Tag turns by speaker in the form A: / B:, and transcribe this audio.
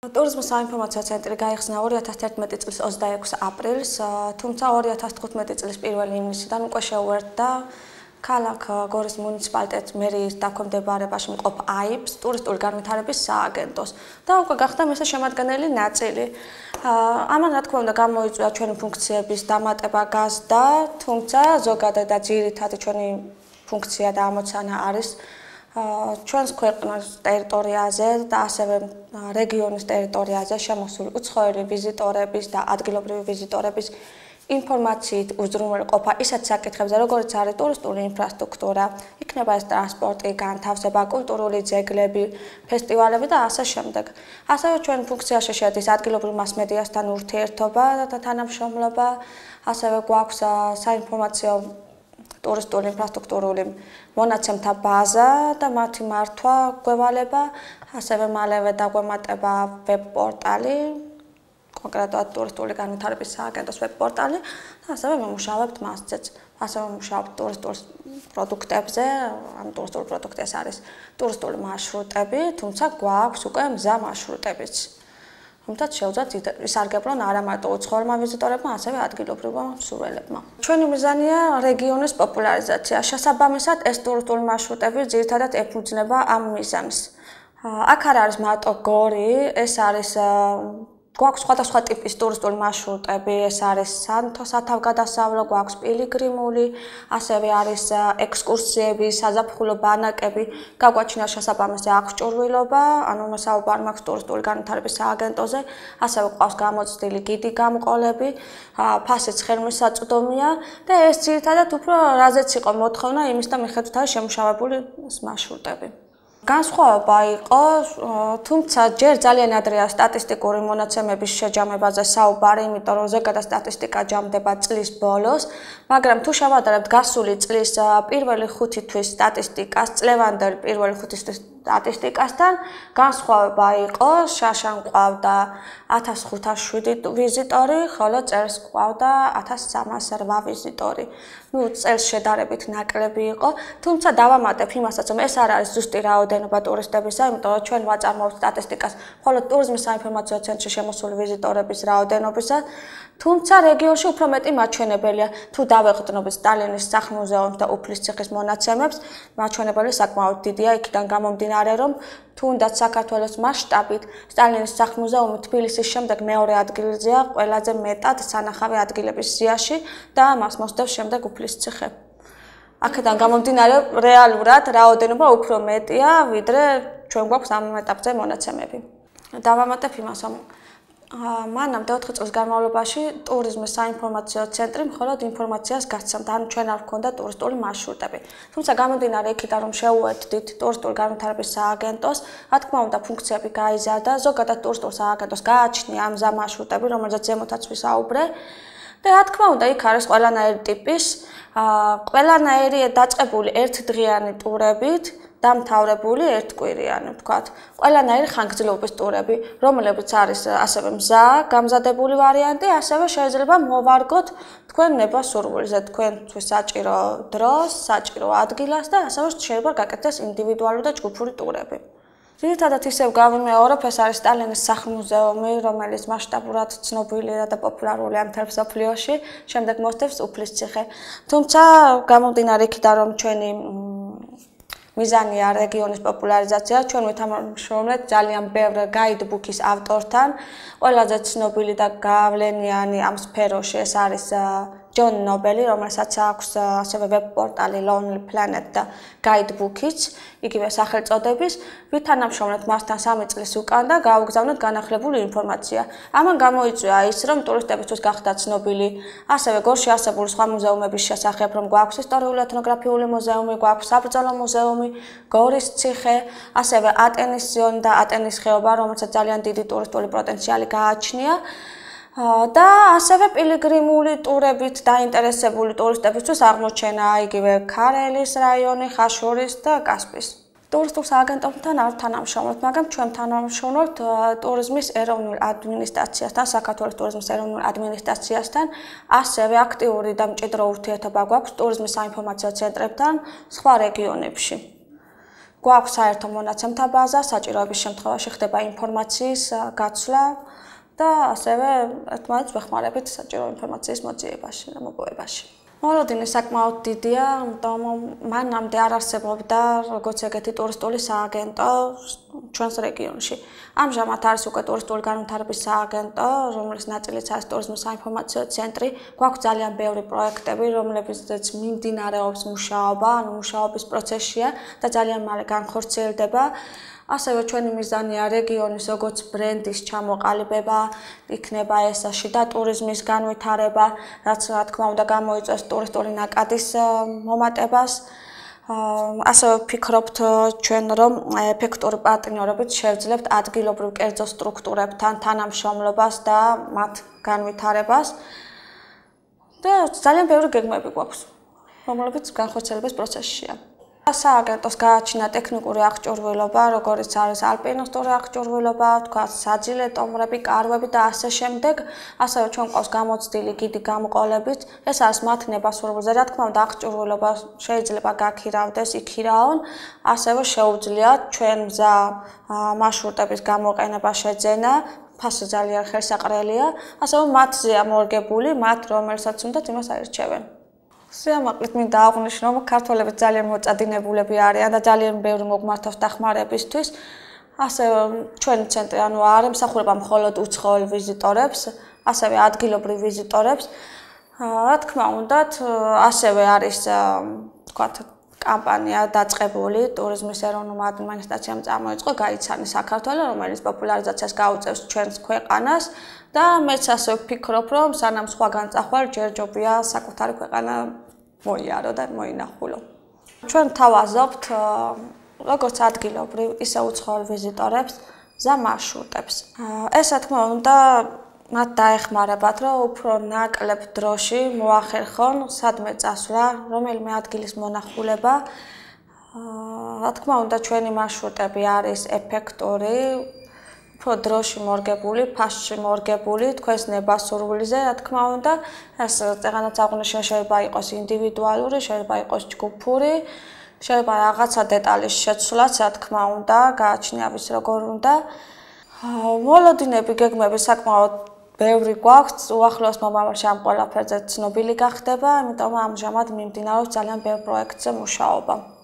A: ტურიზმის საინფორმაციო ცენტრი გაიხსნა 2011 წლის 26 აპრილს, თუმცა 2015 წლის 1 ივნისიდან უკვე შეუერთდა ქალაქ გორის მუნიციპალიტეტის მერიის დაქვემდებარებაში მყოფ AIBS ტურისტული განვითარების სააგენტოს და უკვე გახდა მისი შემადგენელი ნაწილი. ამან რა თქმა უნდა გამოიწვია ჩვენი ფუნქციების დამატება გაზდა, თუმცა ზოგადად და ძირითადად ჩვენი ფუნქცია და ამოცანა არის ჩვენს ქვეყნის ტერიტორიაზე და ასევე რეგიონის ტერიტორიაზე შემოსული უცხოელი ვიზიტორების და ადგილობრივი ვიზიტორების ინფორმაციით უზრუნველყოფა ისეთ საკითხებზე, როგორც არის ტურისტული ინფრასტრუქტურა, იქნება ეს ტრანსპორტი, განთავსება, კულტურული ძეგლები, ფესტივალები და ასე შემდეგ. ასევე ჩვენ ფუნქციაში შედის ადგილობრივ მასმედიასთან ურთიერთობა და თანამშრომლობა, ასევე გვაქვს საინფორმაციო ტურისტული ინფრასტრუქტურული მონაცემთა ბაზა და მათი მართვა გვევალება, ასევე მალევე დაგვემატება ვებ-პორტალი, კონკრეტულად ტურისტული განვითარების სააგენტოს ვებ-პორტალი და ასევე ვიმუშავებთ მასზეც. ასევე ვიმუშავებთ ტურისტულ პროდუქტებზე, ამ ტურისტულ პროდუქტებს არის ტურისტული მარშრუტები, თუმცა გვაქვს უკვე მზა მარშრუტებიც. თუმცა შეუძლიათ ისარგებლონ არა მარტო უცხოელმა ვიზიტორებმა, ასევე ადგილობრივმა მსურველებმა. ჩვენი მიზანია რეგიონის პოპულარიზაცია. შესაბამისად, ეს ტურისტული მარშრუტები ძირითადად ეფუძნება ამ მიზანს. აქ არ არის მარტო გორი, ეს არის გვაქვს სხვადასხვა ტიპის ტურისტული მარშრუტები, ეს არის სათავგადასავლო, გვაქვს პილიგრიმული, ასევე არის ექსკურსიები, საზაფხულო ბანაკები, გაგვაჩნია შესაბამისი აღჭურვილობა, ანუ საუბარი მაქვს ტურისტული განვითარების სააგენტოზე, ასევე გვყავს გამოცდილი გიდი გამყოლები, ფასიც ხელმისაწვდომია და ეს ძირითადად უფრო რაზეც იყო მოთხოვნა, იმის და მიხედვით არის შემუშავებული მარშრუტები. განსხვავება იყო, თუმცა ჯერ ძალიან ადრეა სტატისტიკური მონაცემების შეჯამებაზე საუბარი, იმიტომ რომ ზოგადად სტატისტიკა ჯამდება წლის ბოლოს, მაგრამ თუ შევადარებთ გასული წლის პირველი 5 თვის სტატისტიკას, წლევანდელ პირველი 5 თვის სტატისტიკასთან, განსხვავება იყო, შაშან ყავდა 1507 ვიზიტორი, ხოლო წელს ყავდა 1308 ვიზიტორი. წელს შედარებით ნაკლები იყო, თუმცა დავამატებ იმასაც, რომ ეს არ არის ზუსტი რაოდენობა ტურისტებისა, იმიტომ რომ ჩვენ ვაწარმოებთ სტატისტიკას მხოლოდ ტურიზმის საინფორმაციო ცენტრში შემოსული ვიზიტორების რაოდენობისას, თუმცა რეგიონში უფრო მეტი მაჩვენებელია. თუ დავეყრდნობით სტალინის სახლ-მუზეუმს და უფლისციხის მონაცემებს, მაჩვენებელი საკმაოდ დიდია, იქიდან გამომდინარე, რომ თუნდაც საქართველოს მასშტაბით სტალინის სახლ-მუზეუმი თბილისის შემდეგ მეორე ადგილზეა ყველაზე მეტად სანახავი ადგილების სიაში და მას მოსდევს შემდეგ უფლისციხე. აქედან გამომდინარე, რეალურად რაოდენობა უფრო მეტია, ვიდრე ჩვენ გვაქვს ამ ეტაპზე მონაცემები. დავამატებ იმას, რომ მანამდე 4 წლის განმავლობაში ტურიზმის საინფორმაციო ცენტრი მხოლოდ ინფორმაციას გაცემდა, ანუ ჩვენ არ გვქონდა ტურისტული მარშრუტები. თუმცა გამომდინარე იქიდან, რომ შეუერთდით ტურისტული განვითარების სააგენტოს, რა თქმა უნდა ფუნქციები გაიზარდა, ზოგადად ტურისტულ სააგენტოს გააჩნია ამ მზა მარშრუტები, რომელზეც ზემოთაც ვისაუბრე. და რა თქმა უნდა, იქ არის ყველანაირი ტიპის, ყველანაირი დაწყებული ერთდღიანი ტურებით, დამთავრებული ერთკვირიანი, ვთქვათ, ყველანაირი ხანგრძლივობის ტურები, რომლებიც არის ასევე მზა, გამზადებული ვარიანტი, ასევე შეიძლება მოვარგოთ თქვენ ნება-სურვილზე, თქვენთვის საჭირო დროს, საჭირო ადგილას და ასევე შეიძლება გაკეთდეს ინდივიდუალური და ჯგუფური ტურები. ძირითადად ისევ გავიმეორებ, ეს არის სტალინის სახლ-მუზეუმი, რომელიც მასშტაბურად ცნობილია და პოპულარულია მთელ მსოფლიოში, შემდეგ მოსდევს უფლისციხე. თუმცა გამომდინარე იქიდან, რომ ჩვენი მიზანია რეგიონის პოპულარიზაცია, ჩვენ ვითამაშრომლეთ ძალიან ბევრ გაიდბუქის ავტორთან, ყველაზე ცნობილი და გავლენიანი ამ სფეროში ეს არის ჯონ ნობელი, რომელსაც აქვს ასევე ვებ-პორტალი Lonely Planet და Guidebookიც, იგივე სახელწოდების, ვითანამშრომლეთ მასთან 3 წლის უკან და გავუგზავნეთ განახლებული ინფორმაცია. ამან გამოიწვია ის, რომ ტურისტებისთვის გახდა ცნობილი ასევე გორში არსებული სხვა მუზეუმების შესახებ, რომ გვაქვს ისტორიული ეთნოგრაფიული მუზეუმი, გვაქვს საბრძოლო მუზეუმი, გორის ციხე, ასევე ატენის ზონი და ატენის ხეობა, რომელსაც ძალიან დიდი ტურისტული პოტენციალი გააჩნია. და ასევე პილიგრიმული ტურებით დაინტერესებული ტურისტებისთვის აღმოჩენა იგივე ქარელის რაიონი, ხაშურის და კასპის. ტურისტულ სააგენტოსთან არ თანამშრომლობთ, მაგრამ ჩვენ თანამშრომლობთ ტურიზმის ეროვნულ ადმინისტრაციასთან, საქართველოს ტურიზმის ეროვნულ ადმინისტრაციასთან, ასევე აქტიური და მჭიდრო ურთიერთობა გვაქვს ტურიზმის საინფორმაციო ცენტრებთან სხვა რეგიონებში. გვაქვს საერთო მონაცემთა ბაზა, საჭიროების შემთხვევაში ხდება ინფორმაციის გაცვლა და ასევე ერთმანეთს ვეხმარებით საჭირო ინფორმაციის მოძიებაში და მოპოვებაში. მოლოდინი საკმაოდ დიდია, იმიტომ მანამდე არ არსებობდა როგორც ეგეთი ტურისტული სააგენტო ჩვენს რეგიონში. ამჟამად არის უკვე ტურისტული განვითარების სააგენტო, რომლის ნაწილიც არის ტურიზმის საინფორმაციო ცენტრი. გვაქვს ძალიან ბევრი პროექტები, რომლებიც მიმდინარეობს მუშაობა, ანუ მუშაობის პროცესია და ძალიან მალე განხორციელდება. ასევე ჩვენი მიზანია რეგიონის როგორც ბრენდის ჩამოყალიბება, იქნება ეს შიდა ტურიზმის განვითარება, რაც რა თქმა უნდა გამოიწვევს ტურისტული ნაკადის მომატებას. ასევე ვფიქრობთ ჩვენ რომ ეფექტური პარტნიორობით შევძლებთ ადგილობრივ კერძო სტრუქტურებთან თანამშრომლობას და მათ განვითარებას. და ძალიან ბევრი გეგმები გვაქვს, რომლებიც განხორციელების პროცესშია. სააგენტოს გააჩინა ტექნიკური აღჭურვილობა, როგორც არის ალპინისტური აღჭურვილობა, თქვა საძილე ტომბრები, კარვები და ასე შემდეგ. ასევე ჩვენ ყავს გამოცდილი გიდი გამყოლებით. ეს არის მათ ნებასურებაზე, რა თქმა უნდა, აღჭურვილობა შეიძლება გაქირავდეს, იქირავონ. ასევე შეუძლიათ ჩვენ მზა მარშრუტების გამოყენება შეძენა. ფასი ძალიან ხელსაყრელია. ასევე მათზეა მორგებული, მათ რომელსაც უნდათ იმას აირჩევენ. სიამაყლით მინდა აღვნიშნო, რომ ქართველები ძალიან მოწადინებულები არიან და ძალიან ბევრი მოგმართავს დახმარებისთვის. ასევე ჩვენი ცენტრი ანუ არ ემსახურება მხოლოდ უცხოელ ვიზიტორებს, ასევე ადგილობრივ ვიზიტორებს. რა თქმა უნდა, ასევე არის თქვათ კამპანია დაწყებული ტურიზმის ეროვნულმა ადმინისტრაციამ წამოიწყო გაიცანი საქართველო, რომელიც პოპულარიზაციას გაუწევს ჩვენს ქვეყანას და მეც ასე ვფიქრობ, რომ სანამ სხვაგან წახვალ ჯერჯობია საკუთარი ქვეყანა მოიარო და მოინახულო. ჩვენ თავაზობთ როგორც ადგილობრივ, ისე უცხოელ ვიზიტორებს მზა მარშრუტებს. ეს რა თქმა უნდა მათ დაეხმარებათ, რომ უფრო ნაკლებ დროში მოახერხონ სადმე წასვლა, რომელიმე ადგილის მონახულება. რა თქმა უნდა, ჩვენი მარშრუტები არის ეფექტური, უფრო დროში მორგებული, ფასში მორგებული, თქვენს ნებასურვილზე, რა თქმა უნდა, ეს წეგანაც აღვნიშნე შეიძლება იყოს ინდივიდუალური, შეიძლება იყოს ჯგუფური, შეიძლება რაღაცა დეტალის შეცვლაც, რა თქმა უნდა, გააჩნია ვის როგორ უნდა. მოლოდინები, გეგმები საკმაოდ ბევრი გვაქვს, უახლოეს მომავალში ამ ყველაფერზე ცნობილი გახდება, იმიტომ ამჟამად მიმდინარეობს ძალიან ბევრ პროექტზე მუშაობა.